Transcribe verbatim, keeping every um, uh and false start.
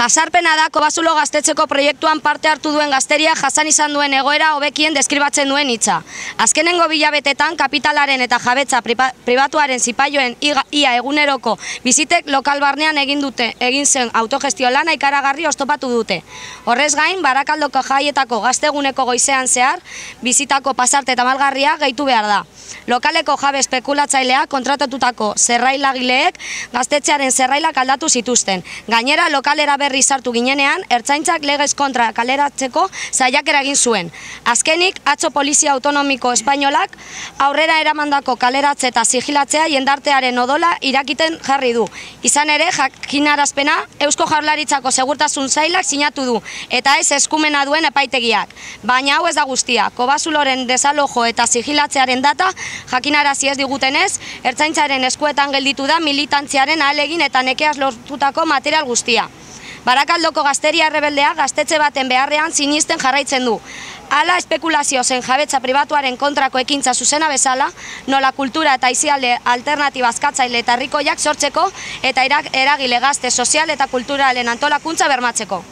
Jasarpena da Kobazulo gaztetzeko proiektuan parte hartu duen gazteria jasan izan duen egoera hobekien deskribatzen duen hitza. Azkenengo bilabetetan kapitalaren eta jabetza pribatuaren zipaioen ia eguneroko bizitek lokal barnean egin dute, egin zen autogestio lana ikaragarri oztopatu dute. Horrez gain, Barakaldoko jaietako gazteguneko goizean zehar, bizitako pasarte eta malgarria gehitu behar da. Lokaleko jabe espekulatzailea kontratatutako zerrailagileek gaztetxearen zerrailak aldatu zituzten. Gainera, lokalera berri sartu ginenean, ertzaintzak legez kontra kaleratzeko saiakera egin zuen. Azkenik, atzo Polizia Autonomiko Espainolak aurrera eramandako kaleratze eta sigilatzea jendartearen odola irakiten jarri du. Izan ere, jakinarazpena Eusko Jaurlaritzako Segurtasun Sailak sinatu du, eta ez eskumena duen epaitegiak. Baina hau ez da guztia, Kobazuloren desalojo eta sigilatzearen data jakinarazi ez digutenez, ertzaintzaren eskuetan gelditu da militantziaren ahalegin eta nekeaz lortutako material guztia. Barakaldoko gazteria errebeldea gaztetxe baten beharrean sinisten jarraitzen du. Hala espekulazio zen jabetza pribatuaren kontrako ekintza zuzena bezala, nola kultura eta aisialde alternatiba askatzaile eta herrikoiak sortzeko eta eragile gazte sozial eta kulturalen antolakuntza bermatzeko.